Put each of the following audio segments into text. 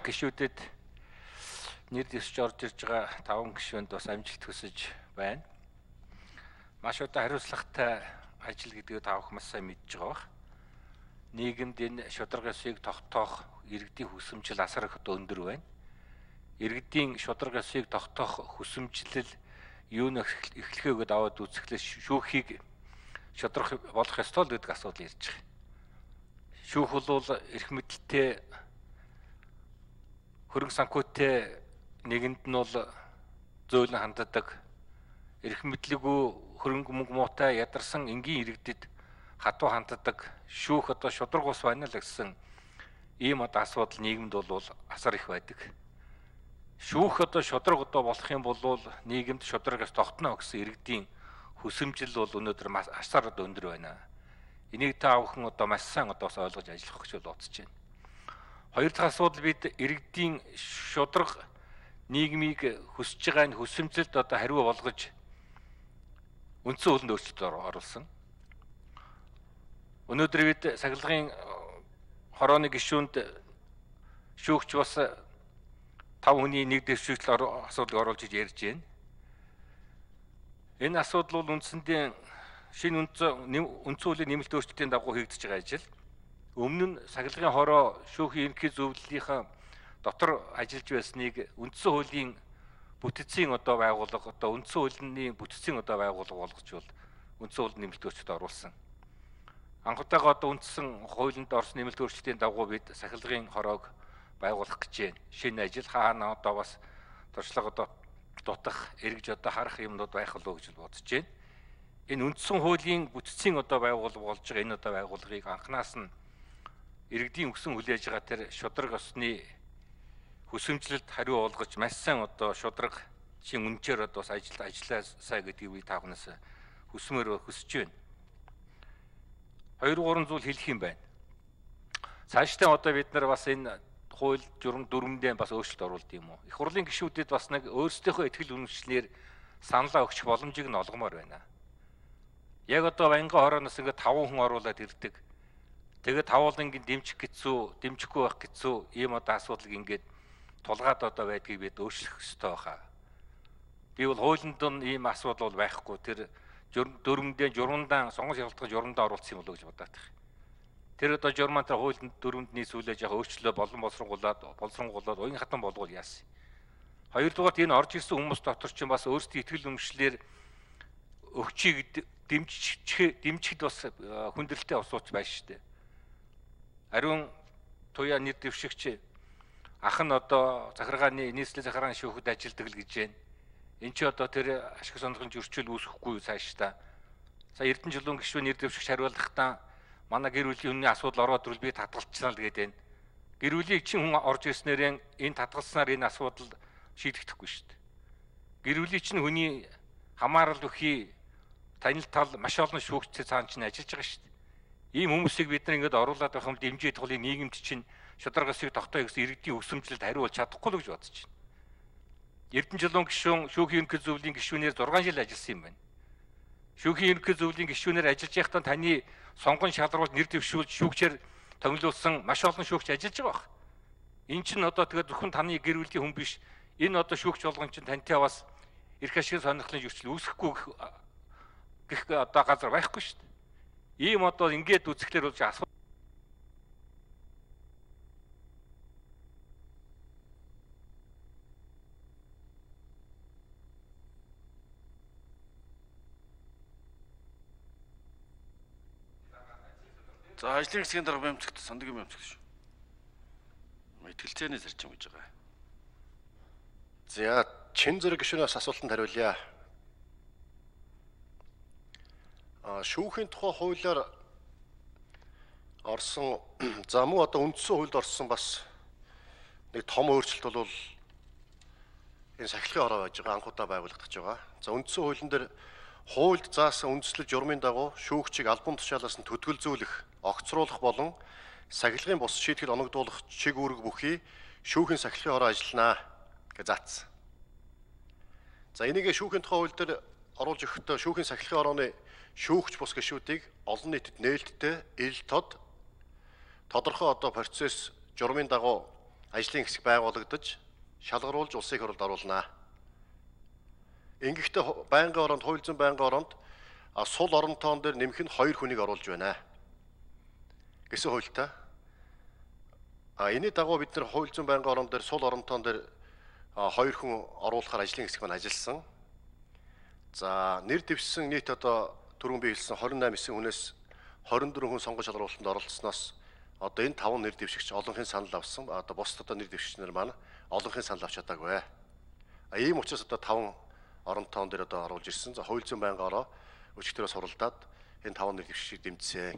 гишүүдэд нэр дэвсж орж ирж байгаа 5 гишүүнд бас амжилт хүсэж байна. Маш одоо хариуцлагатай ажил гэдгийг та бүхэн маш сайн мэдж байгаа бах. Нийгэмд энэ шударга ёсыг тогтоох иргэдийн хүсэмжил асар их өндөр байна. Иргэдийн шударга ёсыг тогтоох хүсэмжлэл юуны эхлэхээ аваад үзэхлээр шүүхийг шударга болох ёстой л гэдэг асуудал ирж байгаа. Шүүх бол эрх мэдэлтэй хөрөнгө санхүүтэй нэгэнд нь бол зөөлөн ханддаг, эрх мэдлэггүй хөрөнгө мөнгө муутай ядарсан энгийн иргэдэд хатуу ханддаг шүүх одоо шударга ус байна л гэсэн ийм одоо асуудал нийгэмд бол асар их байдаг. Шүүх одоо шударга одоо болох юм бол нийгэмд шударгаас тогтно гэсэн иргэдийн хүсэмжил бол өнөөдөр маш асар өндөр байна. Энийг та бүхэн одоо маш сайн одоо ойлгож ажиллах гэж бодож байна. Хоёр дахь асуудал бид иргэдийн шударга нийгмийг хүсэж байгаа энэ хүсэмжлэлд одоо хариу болгож үндсэн хуулинд өөрчлөлт оруулсан. Өнөөдөр бид сахилгын хорооны гишүүнд шүүгч бас 5 хүний нэг дэвшигчл асуудлыг оруулж ярьж байна. Энэ асуудал бол үндсэндээ шинэ үндсэн хуулийн нэмэлт өөрчлөлтийн дагуу хийгдэж байгаа ажил. Өмнө нь сахилгын хороо шүүхийн ерөнхий зөвлөлийнхаа дотор ажиллаж байсныг үндсэн хуулийн бүтцийн одоо байгууллага одоо үндсэн хуулийн бүтцийн одоо байгууллага болгож бол үндсэн хууль нэмэлт өөрчлөлт оруулсан. Анхудаага одоо үндсэн хуулинд орсон нэмэлт өөрчлөлтийн дагуу бид сахилгын хороог байгуулах гэж байна. Шинэ ажил хаана одоо бас туршлага одоо дутах, эргэж одоо харах юмнууд байх болов гэж бодож байна. Энэ үндсэн хуулийн бүтцийн одоо байгууллага болж байгаа энэ одоо байгууллагыг анханаас нь иргэдийн өгсөн хүлээж байгаа тэр шударга ёсны хүсэмжлэлд хариу олгож маш сайн одоо шударга шин үнчээр одоо ажилласаа гэдгийг та бүхнээс хүсэж байна. 2-3 зүйл хэлэх юм байна. Цаашдаа одоо бид нар бас энэ хууль журам дүрмдээ бас өөрчлөлт оруулд юм уу? Их хурлын гишүүдэд бас нэг өөрсдийнхөө ихтгэл үнэмшлэр саналаа өгчих боломжийг нь олгомоор байна. Яг одоо Баянган хорооноос ингээд 5 хүн оруулаад ирдэг. Тэгээд тавуулангийн дэмжих гэцүү, дэмжихгүй байх гэцүү ийм одоо асуудал ингээд тулгаад одоо байдгийг бид өөрчлөх ёстой байхаа. Би бол хуулинд нь ийм асуудал бол байхгүй. Тэр дүрмдээ журмандаа сонгож явуулдаг журмандаа оруулсан юм болоо гэж бодоод байна. Тэр одоо журмантаа хуулинд дүрмд нийцүүлж яхаа өөрчлөлөө боловсронгуулаад уян хатан болгоул яасан. Хоёрдугаарт энэ орж ирсэн хүмүүс дотор ч бас өөрсдийн ихтгэл үнэмшлэр өгчийг дэмжихэд бас хүндрэлтэй усууч байна шүү дээ. Ариун туяа нэр дэвшигч ах нь одоо захиргааны нийслэлийн захиргааны шүүхэд ажилладаг л гэж байна. Энд чи одоо тэр ашиг сонирхолын зөрчил үүсэхгүй цаашдаа. За Эрдэнэжлүүн гишүүн нэр дэвшигч хариулахдаа манай гэр бүлийн хүний асуудал ороод ирвэл би татгалцсан л гэдэг байна. Гэр бүлийн чинь хүн орж ирснээр энэ татгалснаар энэ асуудал шийдэгдэхгүй шүү дээ. Гэр бүлийн чинь хүний хамаарал өгөхий танил тал маш олон шүүгчтэй цаана чинь ажиллаж байгаа шүү дээ. Ийм хүмүүсийг бид нар ингээд оруулаад байх юм дэмжиж тулын нийгэмд чинь шударга ёсыг тогтоё гэсэн иргэдийн өсөмжлөлд хариулж чадахгүй л гэж бодож байна. Эрдэнэжлүүн гишүүн шүүхийн ерөнхий зөвлөлийн гишүүнээр 6 жил ажилласан юм байна. Шүүхийн ерөнхий зөвлөлийн гишүүнээр ажиллаж байхдаа таны сонгон шалруулж нэр дэвшүүлж шүүгчээр томилуулсан маш олон шүүгч ажиллаж байгаа баг. Энэ чинь одоо тэгээд зөвхөн таны гэр бүлийн хүн биш. Энэ одоо шүүгч болгон чинь тантай бас эрх ашигын сонирхлын зөрчил үүсэхгүй гэх одоо газар байхгүй шүү дээ. Ийм одоо ингээд үзэхлээр болж асуудал. За ажлын хэсгийн дарга бямцагт сандаг бямцагт шүү. Мэтгэлцээний зарчим гэж байгаа. За чин зэрэг гишүүнээс асуултанд хариулъя. Шүүхийн тухай хуулиар орсон за мөн одоо үндсэн хуульд орсон бас нэг том өөрчлөлт бол энэ сахилгын хороо байж байгаа анхудаа байгуулагдаж байгаа. За үндсэн хуулийн дээр хуульд заасан үндслэл журмын дагуу шүүгчийг албан тушаалаас нь төтгөлзүүлэх, огцруулах болон сахилгын бус шийтгэл оногдуулах чиг үүрэг бүхий шүүхийн сахилгын хороо ажилланаа гэж заасан. За энийг шүүхийн тухай хууль дээр оруулж өгөхдөө шүүхийн сахилгын хорооны шүүгч бус гишүүдийг олон нийтэд нээлттэй ил тод тодорхой одоо процесс журмын дагуу ажлын хэсэг байгуулагдаж шалгаруулж улсын их хурлд оруулнаа. Ингэхдээ байнгын ороонд, хууль зүйн байнгын ороонд сул оронтоон дээр нэмэх нь 2 хүнийг оруулж байна гэсэн хуультай. Энэний дагуу бид нар хууль зүйн байнгын орон дээр сул оронтоон дээр 2 хүн оруулахаар ажлын хэсэг маань ажилласан. За нэр дэвшсэн нийт одоо түрүүн би хэлсэн 28 эсийн хүнээс 24 хүн сонгон шалгаруулалтанд оролцсноос одоо энэ 5 нэр дэвшигч олонхын санал авсан. Одоо бусд одоо нэр дэвшигчнэр маань олонхын санал авч чадаагүй. Ийм учраас одоо 5 оронтоон дээр одоо оруулж ирсэн. За хууль зүйн байнгын ороо өчигдөрөөс суралдаад энэ 5 нэр дэвшигчийг дэмжсэн.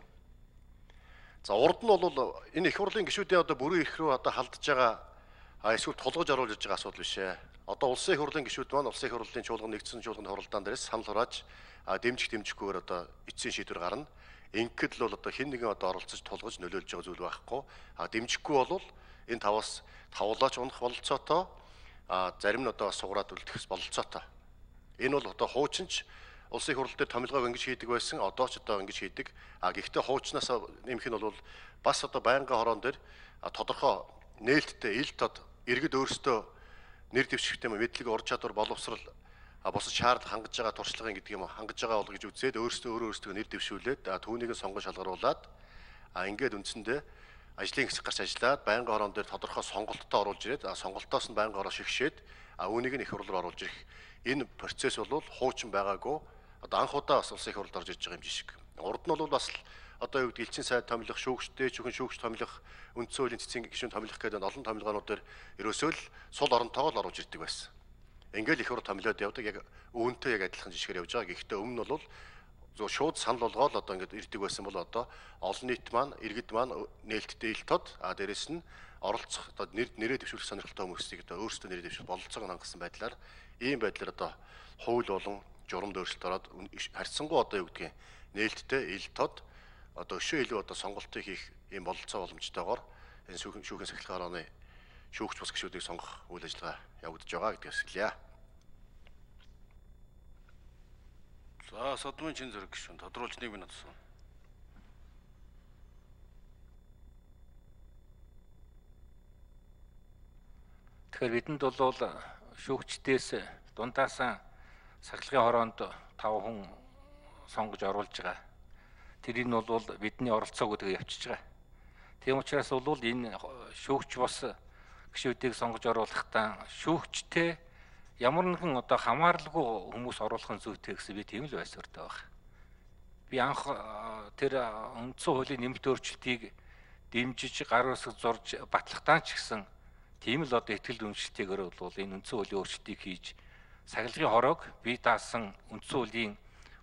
За урд нь бол энэ их хурлын гишүүдийн одоо бүрэн эрх рүү одоо халдж байгаа эсвэл тулгаж оруулж ирж байгаа асуудал биш ээ. Одоо улсын их хурлын гишүүд маань улсын их хурлын чуулган нэгдсэн чуулганы хуралдаан дээрээс санал хурааж дэмжихгүйгээр одоо эцсийн шийдвэр гарна. Ингээд л бол одоо хэн нэгэн одоо оролцож тулгаж нөлөөлж байгаа зүйл байхгүй. Дэмжихгүй бол энэ 5-аас тавлаач унах бололцоотой зарим нь одоо сугараад үлдэхс бололцоотой. Энэ бол одоо хуучинч улсын их хурл дээр томилгоог ингэж хийдэг байсан. Одоо ч одоо ингэж хийдэг. Гэхдээ хуучнаас нэмэх нь бол бас одоо байнгын хороон дээр тодорхой нээлттэй ил тод иргэд өөрсдөө нэр дэвшигчтэй мэдлэг ур чадвар боловсрал бусад шаардлага хангаж байгаа туршлагын гэдэг юм хангаж байгаа бол гэж үзээд өөрсдөө нэр дэвшүүлээд түүнийг сонгон шалгаруулад ингээд үндсэндээ ажлын хэсэг гарч ажиллаад байнгын хороон дээр тодорхой сонголттой оруулж ирээд сонголтоос нь байнгын хороо шигшээд үүнийг нь их хурлаар оруулж ирэх энэ процесс бол хуучин байгаагүй одоо анх удаа бас улсын их хурлд орж ирж байгаа юм жишг. Урд нь бол бас одоо юу гэдэг элчин сайд томилох, шүүгчтэй, зөвхөн шүүгч томилох, үндсэн хуулийн цэцгийн гишүүн томилох гэдэг олон томилгоонууд дээр ерөөсөө л сул оронтойгоо л оруулж ирдэг байсан. Ингээл их хурл томилоод явдаг яг үүнтэй яг адилхан жишгээр явж байгаа. Гэхдээ өмнө нь бол зөв шууд санал болгоод одоо ингээд ирдэг байсан бол одоо олон нийт маань, иргэд маань нээлттэй ил тод дээрэс нь оролцох одоо нэрээ дэвшүүлэх сонирхолтой хүмүүсийг одоо өөрсдөө нэрээ дэвшүүлэх бололцоог хангасан байдлаар ийм байдлаар одоо хууль болон журамд өөрчлөлт ороод харьцангуй одоо юу гэдгийг нээлттэй ил тод одоо өшөө илүү одоо сонголтыг хийх ийм бололцоо боломжтойгоор энэ шүүхийн сахилгын орооны шүүгч бус гишүүдийг сонгох үйл ажиллагаа явагдаж байгаа гэдгээс хэлье. За Содмын чин зэрэг гишүүн тодруулж 1 минут асуу. Тэгэхээр бидэнд бол шүүгчдээс дундаасан сахилгын хороонд 5 хүн сонгож оруулж байгаа. Тэрийг нь бол бидний оролцоо гэдгийг явчихж байгаа. Тийм учраас бол энэ шүүгч бос гишүүдийг сонгож оруулахдаа шүүгчтэй ямар нэгэн одоо хамааралгүй хүмүүс оруулахын зүйтэй гэсэн би тийм л байсуртай байна. Би анх тэр үндсэн хуулийн нэмэлт өөрчлөлтийг дэмжиж гар үсэг зурж батлахтаа ч гэсэн тийм л одоо ихтгэл үнэлттэйгээр бол энэ үндсэн хуулийн өөрчлөлтийг хийж сахилгын хороог бие даасан үндсэн хуулийн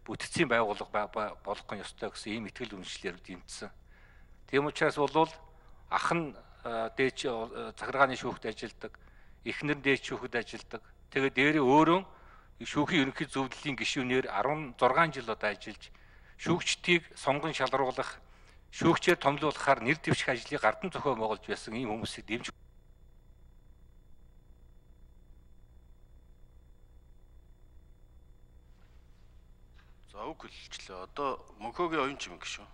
бүтцийн байгууллага болгох ёстой гэсэн ийм ихтгэл үнэлшлээр дэмжсэн. Тийм учраас бол ах нь дээч захиргааны шүүхт ажилладаг, эхнэр нь дээч шүүхэд ажилладаг. Тэгээд дээрээ өөрөө шүүхийн ерөнхий зөвлөлийн гишүүнээр 16 жил одоо ажиллаж шүүгчдийг сонгон шалгаруулах, шүүгчээр томилуулахаар нэр дэвших ажлыг гардан зохион байгуулж байсан ийм хүмүүсийг дэмжих. За үг хэлчихлээ. Одоо мөнхөөгийн оюун чимэг гişүү.